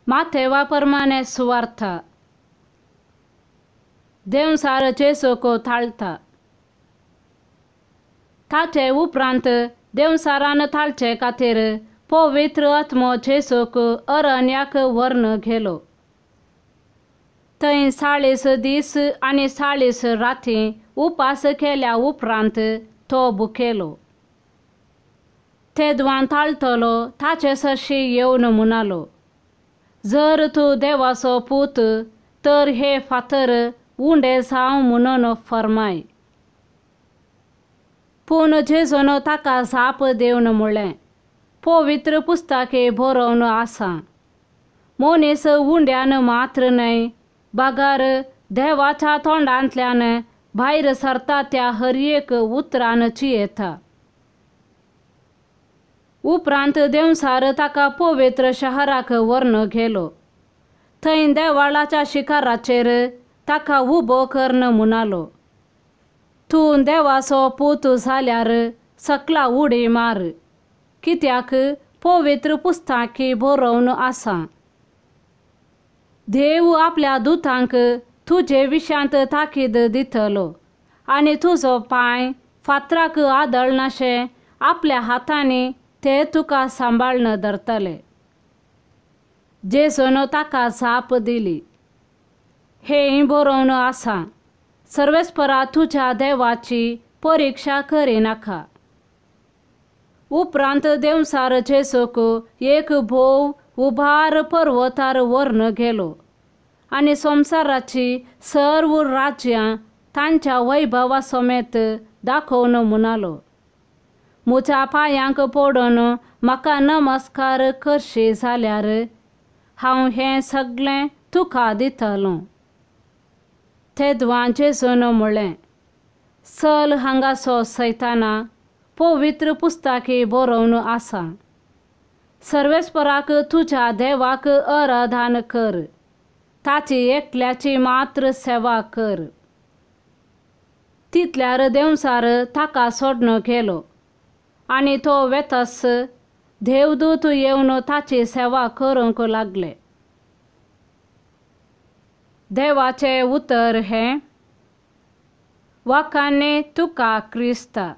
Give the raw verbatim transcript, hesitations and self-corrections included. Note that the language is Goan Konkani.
माथेवा प्रमाणे सुवार्था. देंवचार जेजूक थाळटा. ताचे उपरांत देंवचारान थाळचे खातीर पवित्र आत्मो जेजूक अरण्याक व्हरून गेलो. थंय चाळीस दीस आनी चाळीस राती उपास केल्या उपरांत तो भुकेलो. तेदवान थाळटलो ताचे सरशी येवन म्हणालो, जर तूं देवाचो पूत तर हे फातर उंडे जावं म्हणून फर्माय. पूण जेजून ताका जाप दिवन म्हणलें, पवित्र पुस्तके बरोवन आसा, मनीस उंड्यान मात्र न्हय बगर देवाच्या तोंडांतल्यान भायर सरता त्या हर एक उतरान जियेता. उपरांत देंवचार ताका पवित्र शहराक व्हरून गेलो. थंय देवाळाच्या शिखराचेर ताका उबो करून म्हणालो, तूं देवाचो पूत जाल्यार सकला उडी मार, कित्याक पवित्र पुस्तकी बरोवन आसा, देव आपल्या दुतांक तुजे विशांत ताकीद दितलो आनी तुजो पांय फातराक आदळनाशें आपल्या हातांनी ते तुका सांबाळून धरतले. जेजून ताका जाप दिली, हें बरोवन आसा, सर्वेस्परा तुज्या देवाची परिक्षा करिनाका. उपरांत देंवचार जेजूक एक भोव उबार पर्वतार व्हरून गेलो आनी संवसाराची सर्व राज्यां तांच्या वैभवा समेत दाखोवन म्हणालो, म्हज्या पांयांक पडून म्हाका नमस्कार करशी जाल्यार हांव हें सगळें तुका दितलों. तेदवां जेजून म्हणलें, चल हांगासो सैताना, पवित्र पुस्तकी बरोवन आसा, सर्वेस्पराक तुज्या देवाक आराधन कर, ताची एकल्याची मात्र सेवा कर. तितल्यार देंवचार ताका सोडून गेलो आनी तो वेतस देवदूत येवन ताची सेवा करूंक लागले. देवाचें उतर हें. वाखाणे तुका क्रिस्ता.